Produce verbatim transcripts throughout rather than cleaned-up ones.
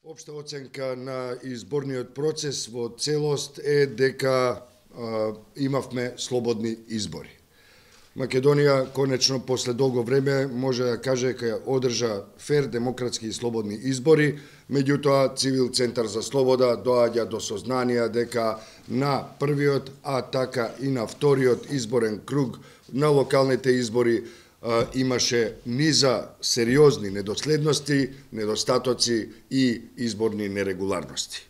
Општа оценка на изборниот процес во целост е дека а, имавме слободни избори. Македонија конечно после долго време може да каже дека одржа фер, демократски и слободни избори, меѓутоа Цивил Центар за слобода доаѓа до сознание дека на првиот, а така и на вториот изборен круг на локалните избори а, имаше низа сериозни недоследности, недостатоци и изборни нерегуларности.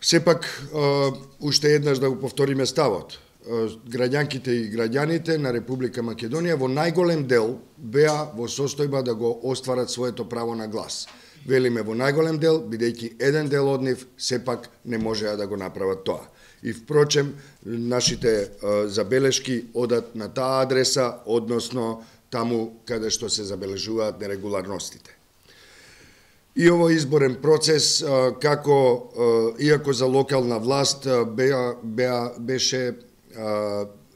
Сепак, а, уште еднаш да го повториме ставот. Граѓанките и граѓаните на Република Македонија во најголем дел беа во состојба да го остварат своето право на глас. Велиме во најголем дел, бидејќи еден дел од нив сепак не можеа да го направат тоа. И впрочем, нашите а, забелешки одат на таа адреса, односно таму каде што се забележуваат нерегуларностите. И овој изборен процес, а, како, а, иако за локална власт, а, беа, беа, беше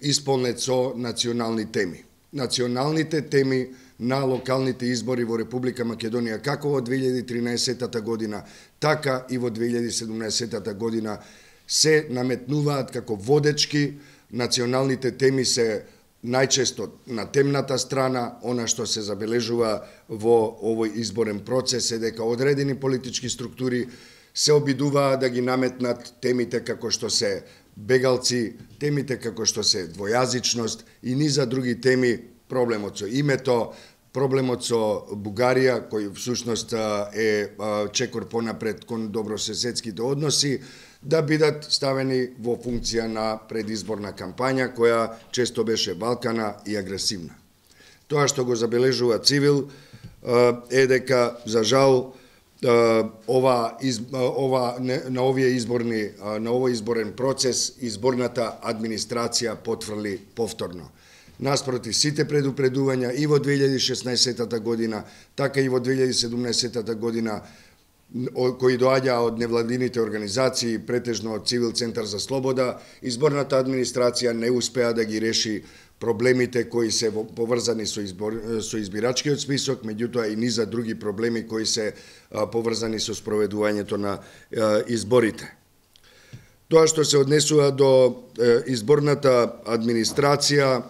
исполнет со национални теми. Националните теми на локалните избори во Република Македонија, како во две илјади и тринаесетта година, така и во две илјади и седумнаесетта година, се наметнуваат како водечки. Националните теми се најчесто на темната страна. Она што се забележува во овој изборен процес е дека одредени политички структури се обидуваат да ги наметнат темите како што се бегалци, темите како што се двојазичност и низа други теми, проблемот со името, проблемот со Бугарија, кој всушност е чекор понапред кон добрососедските односи, да бидат ставени во функција на предизборна кампања, која често беше валкана и агресивна. Тоа што го забележува Цивил е дека, за жал, ова, ова на овие изборни на овој изборен процес изборната администрација потврли повторно. Наспроти сите предупредувања и во две илјади и шеснаесетта година, така и во две илјади и седумнаесетта година, кои доаѓаа од невладините организации, претежно од Цивил Центар за слобода, изборната администрација не успеа да ги реши проблемите кои се поврзани со, избор, со избирачкиот список, меѓутоа и низа други проблеми кои се а, поврзани со спроведувањето на а, изборите. Тоа што се однесува до а, изборната администрација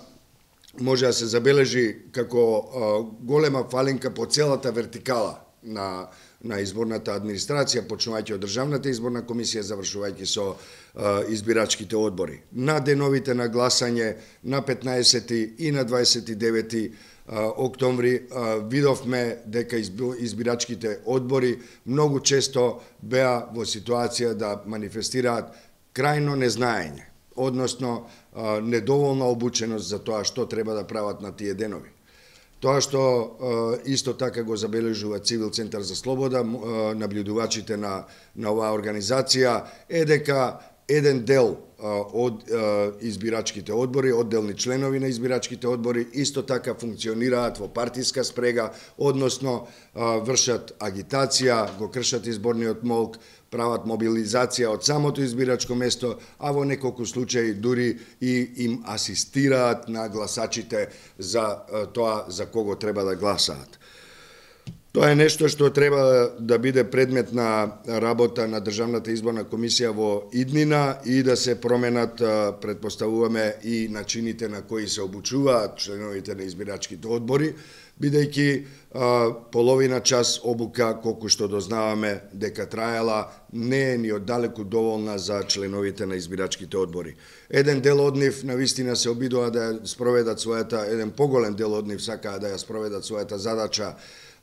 може да се забележи како а, голема фалинка по целата вертикала на на изборната администрација, почнувајќи од Државната изборна комисија, завршувајќи со а, избирачките одбори. На деновите на гласање на петнаесети и на дваесет и девети октомври а, видовме дека избирачките одбори многу често беа во ситуација да манифестираат крајно незнаење, односно а, недоволна обученост за тоа што треба да прават на тие денови. Тоа што исто така го забележува Цивил Центар за слобода, наблюдувачите на, на оваа организација, е дека еден дел од избирачките одбори, одделни членови на избирачките одбори, исто така функционираат во партиска спрега, односно вршат агитација, го кршат изборниот молк, прават мобилизација од самото избирачко место, а во неколку случаи дури и им асистираат на гласачите за тоа за кого треба да гласаат. Тоа е нешто што треба да биде предмет на работа на Државната изборна комисија во иднина и да се променат, претпоставуваме, и начините на кои се обучуваат членовите на избирачките одбори, бидејќи половина час обука, колку што дознаваме дека траела, не е ни оддалеку доволна за членовите на избирачките одбори. Еден дел од нив навистина се обидува да ја спроведат својата, еден поголем дел од нив сакаа да ја спроведат својата задача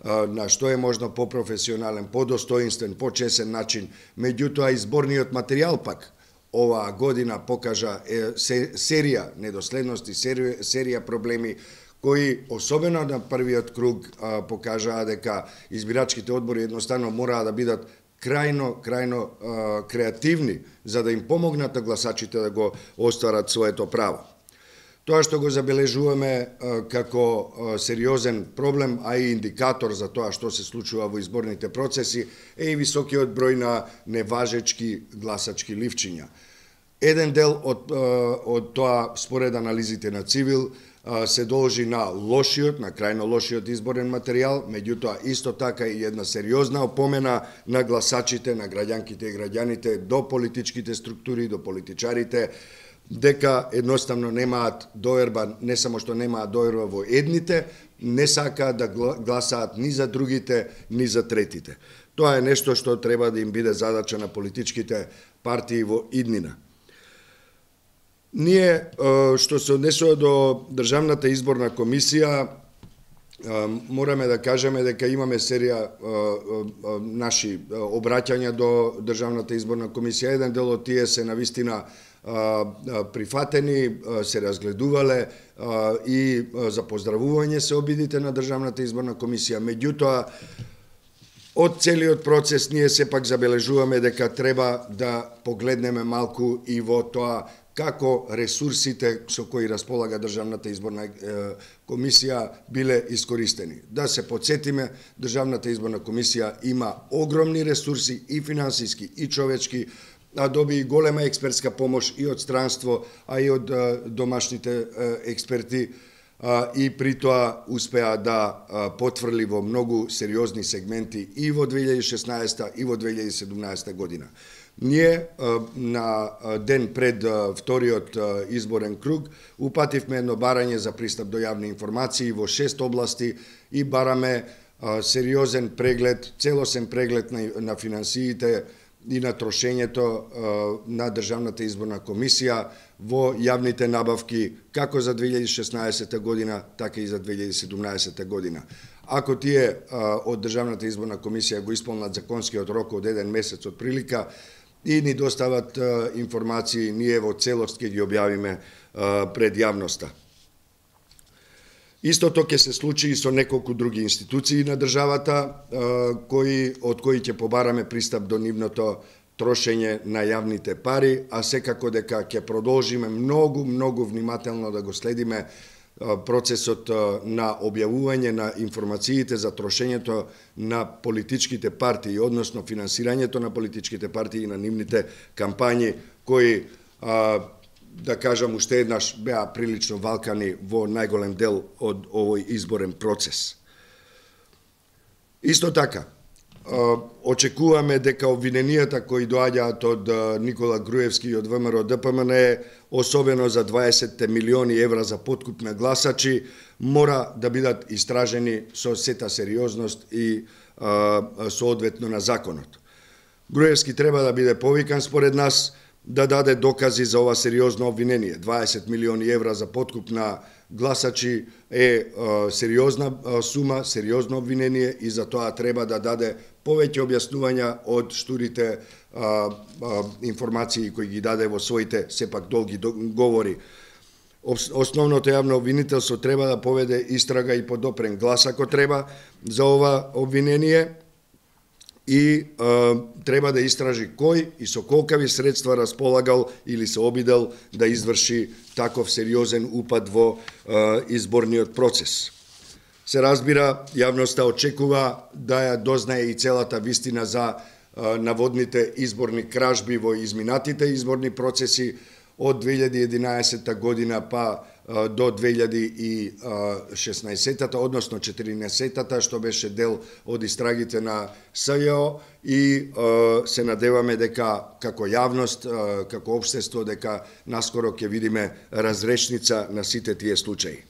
на што е можно попрофесионален, подостоинствен, почесен начин. Меѓутоа, изборниот материјал пак оваа година покажа е, серија недоследности, серија, серија проблеми кои, особено на првиот круг, покажаа дека избирачките одбори едноставно мораа да бидат крајно, крајно креативни, за да им помогнат на гласачите да го остварат своето право. Тоа што го забележуваме како сериозен проблем, а и индикатор за тоа што се случува во изборните процеси, е и високиот број на неважечки гласачки ливчиња. Еден дел од, од тоа, според анализите на Цивил, се должи на лошиот, на крајно лошиот изборен материјал, меѓутоа исто така и една сериозна опомена на гласачите, на граѓанките и граѓаните, до политичките структури, до политичарите, дека едноставно немаат доверба, не само што немаат доверба во едните, не сакаат да гласаат ни за другите, ни за третите. Тоа е нешто што треба да им биде задача на политичките партии во иднина. Ние, што се однесува до Државната изборна комисија, мораме да кажеме дека имаме серија наши обраќања до Државната изборна комисија. Еден дел од тие се навистина прифатени, се разгледувале и за поздравување се обидите на Државната изборна комисија. Меѓутоа, од целиот процес ние сепак забележуваме дека треба да погледнеме малку и во тоа како ресурсите со кои располага Државната изборна комисија биле искористени. Да се подсетиме, Државната изборна комисија има огромни ресурси и финансиски и човечки, а доби и голема експертска помош и од странство, а и од домашните експерти, и при тоа успеа да потврли во многу сериозни сегменти и во две илјади и шеснаесета и во две илјади и седумнаесета година. Ние на ден пред вториот изборен круг упативме едно барање за пристап до јавни информации во шест области и бараме сериозен преглед, целосен преглед на, на финансиите и на трошењето на Државната изборна комисија во јавните набавки како за две илјади и шеснаесета година, така и за две илјади и седумнаесета година. Ако тие од Државната изборна комисија го исполнат законскиот рок од еден месец од прилика и ни достават информации, ние во целост ќе ги објавиме пред јавноста. Истото ќе се случи и со неколку други институции на државата, кои, од кои ќе побараме пристап до нивното трошење на јавните пари, а секако дека ќе продолжиме многу, многу внимателно да го следиме процесот на објавување на информациите за трошењето на политичките партии, односно финансирањето на политичките партии и на нивните кампањи, кои, да кажам, уште еднаш беа прилично валкани во најголем дел од овој изборен процес. Исто така, очекуваме дека обвиненијата кои доаѓаат од Никола Груевски и од ВМРО Д П М Н, особено за дваесет милиони евра за подкуп на гласачи, мора да бидат истражени со сета сериозност и соодветно на законот. Груевски треба да биде повикан според нас да даде докази за ова сериозно обвинение. дваесет милиони евра за подкуп на гласачи е сериозна сума, сериозно обвинение и за тоа треба да даде повеќе објаснувања од штурите а, а, информации кои ги даде во своите сепак долги говори. Основното јавно обвинителство треба да поведе истрага и подопрен глас ако треба за ова обвинение и а, треба да истражи кој и со колкави средства располагал или се обидел да изврши таков сериозен упад во а, изборниот процес. Се разбира, јавноста очекува да ја дознае и целата вистина за а, наводните изборни кражби во изминатите изборни процеси од две илјади и единаесета година па а, до две илјади и шеснаесета, односно четиринаесета, што беше дел од истрагите на С Ј О и а, се надеваме дека како јавност, а, како општество, дека наскоро ќе видиме разрешница на сите тие случаи.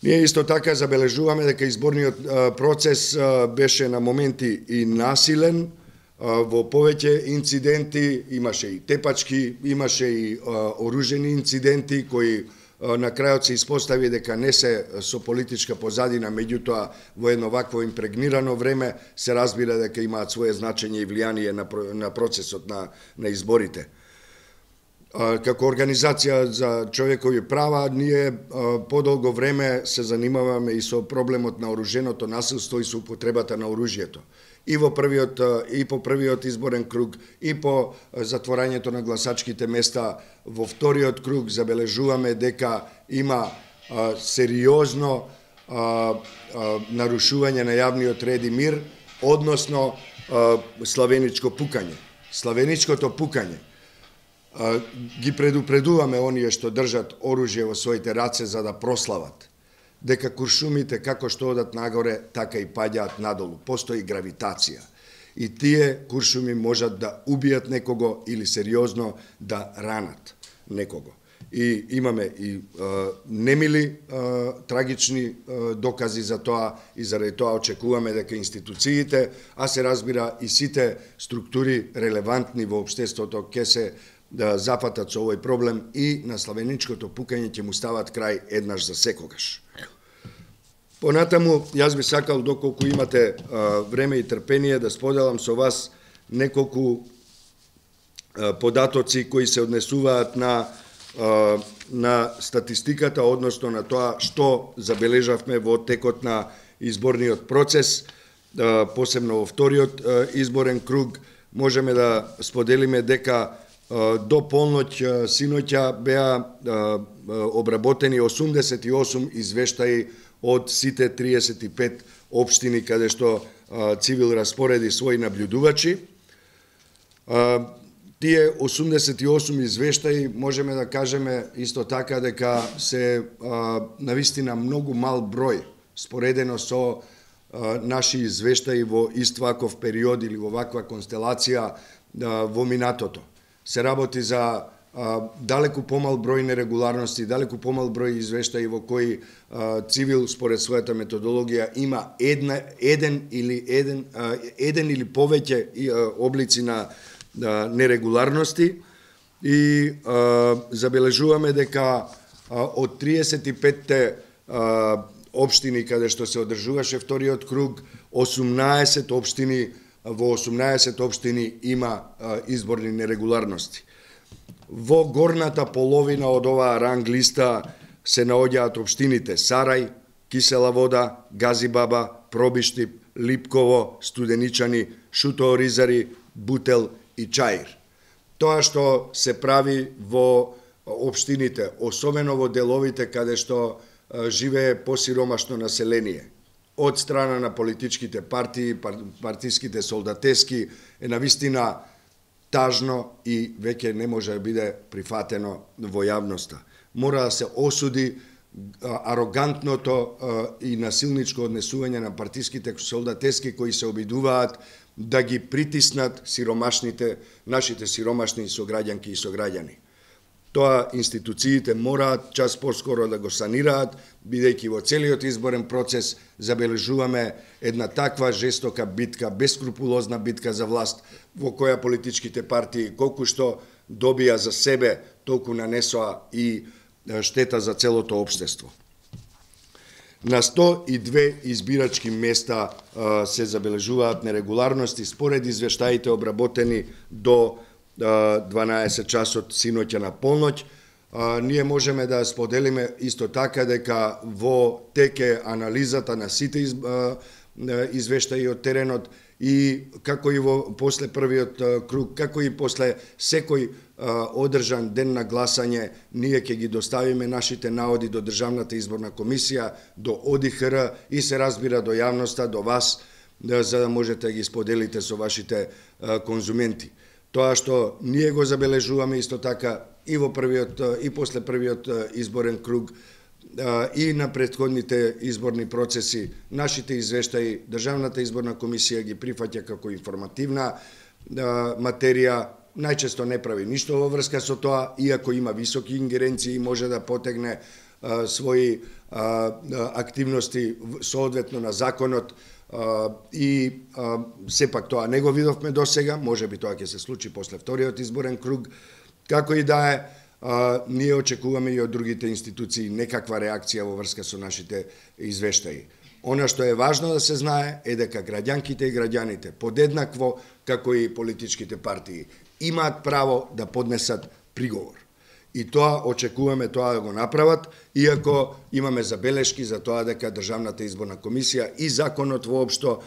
Ние исто така забележуваме дека изборниот процес беше на моменти и насилен, во повеќе инциденти, имаше и тепачки, имаше и оружени инциденти кои на крајот се испостави дека не се со политичка позадина, меѓутоа во едно вакво импрегнирано време се разбира дека имаат свое значење и влијание на процесот на, на изборите. Како Организација за човекови права, ние подолго време се занимаваме и со проблемот на оруженото насилство и со употребата на оружјето. И во првиот и по првиот изборен круг и по затворањето на гласачките места во вториот круг забележуваме дека има а, сериозно а, а, нарушување на јавниот ред и мир, односно а, славеничко пукање. Славеничкото пукање ги предупредуваме оние што држат оружје во своите раце за да прослават, дека куршумите како што одат нагоре, така и паѓаат надолу. Постои гравитација. И тие куршуми можат да убијат некого или сериозно да ранат некого. И имаме и а, немили а, трагични а, докази за тоа и заради тоа очекуваме дека институциите, а се разбира и сите структури релевантни во општеството ќе се да зафатат со овој проблем и на славеничкото пукање ќе му стават крај еднаш за секогаш. Понатаму, јас би сакал, доколку имате а, време и трпение, да споделам со вас неколку а, податоци кои се однесуваат на на статистиката, односно на тоа што забележавме во текот на изборниот процес, посебно во вториот изборен круг. Можеме да споделиме дека до полноќ синоќа беа обработени осумдесет и осум извештаи од сите триесет и пет општини каде што Цивил распореди своји наблюдувачи. Тие осумдесет и осум извештаи можеме да кажеме исто така дека се а, навистина многу мал број споредено со а, наши извештаи во ист ваков период или во ваква констелација а, во минатото. Се работи за а, далеку помал број нерегуларности, далеку помал број извештаи во кои а, Цивил според својата методологија има една, еден или еден, а, еден или повеќе а, облици на нерегуларности и а, забележуваме дека а, од триесет и петте а, општини каде што се одржуваше вториот круг, осумнаесет општини, во осумнаесет општини има а, изборни нерегуларности. Во горната половина од оваа ранг листа се наоѓаат општините Сарај, Кисела Вода, Газибаба, Пробиштип, Липково, Студеничани, Шутооризари, Бутел и Чаир. Тоа што се прави во општините, особено во деловите каде што живее посиромашно население, од страна на политичките партии, партиските солдатески, е навистина тажно и веќе не може да биде прифатено во јавноста. Мора да се осуди арогантното и насилничко однесување на партиските солдатески кои се обидуваат да ги притиснат сиромашните, нашите сиромашни сограѓанки и сограѓани. Тоа институциите мораат час поскоро да го санираат, бидејќи во целиот изборен процес забележуваме една таква жестока битка, бескрупулозна битка за власт, во која политичките партии колку што добија за себе, толку нанесоа и штета за целото општество. На сто и две избирачки места а, се забележуваат нерегуларности според извештаите обработени до а, дванаесет часот синоќа на полноќ. А, ние можеме да споделиме исто така дека во теке анализата на сите из, а, извештаи од теренот и како и во после првиот а, круг, како и после секој одржан ден на гласање, ние ќе ги доставиме нашите наоди до Државната изборна комисија, до О Д И Х Р и се разбира до јавноста, до вас, да, за да можете да ги споделите со вашите а, конзументи. Тоа што ние го забележуваме исто така и во првиот и после првиот изборен круг а, и на претходните изборни процеси, нашите извештаи Државната изборна комисија ги прифаќа како информативна а, материја, најчесто не прави ништо во врска со тоа, иако има високи ингеренции и може да потегне а, своји а, активности соодветно на законот а, и а, сепак тоа не го видовме досега, може би тоа ќе се случи после вториот изборен круг, како и да е, а, ние очекуваме и од другите институции некаква реакција во врска со нашите извештаи. Она што е важно да се знае е дека граѓанките и граѓаните подеднакво како и политичките партии имаат право да поднесат приговор. И тоа очекуваме тоа да го направат, иако имаме забелешки за тоа дека Државната изборна комисија и законот воопшто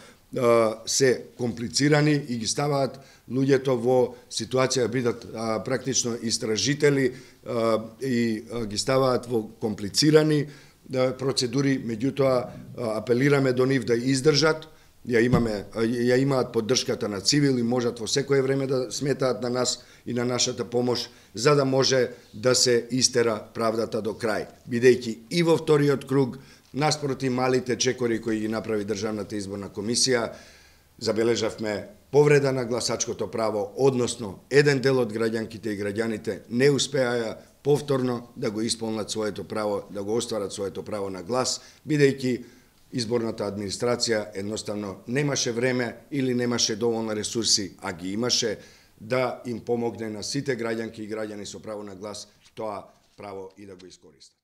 се комплицирани и ги ставаат луѓето во ситуација да бидат практично истражители и ги ставаат во комплицирани процедури, меѓутоа апелираме до нив да издржат, ја имаме, ја имаат поддршката на цивили, можат во секое време да сметаат на нас и на нашата помош, за да може да се истера правдата до крај. Бидејќи и во вториот круг, наспроти малите чекори кои ги направи Државната изборна комисија, забележавме повреда на гласачкото право, односно еден дел од граѓанките и граѓаните не успеаја повторно да го исполнат своето право, да го остварат своето право на глас, бидејќи изборната администрација едноставно немаше време или немаше доволно ресурси, а ги имаше, да им помогне на сите граѓанки и граѓани со право на глас тоа право и да го искористат.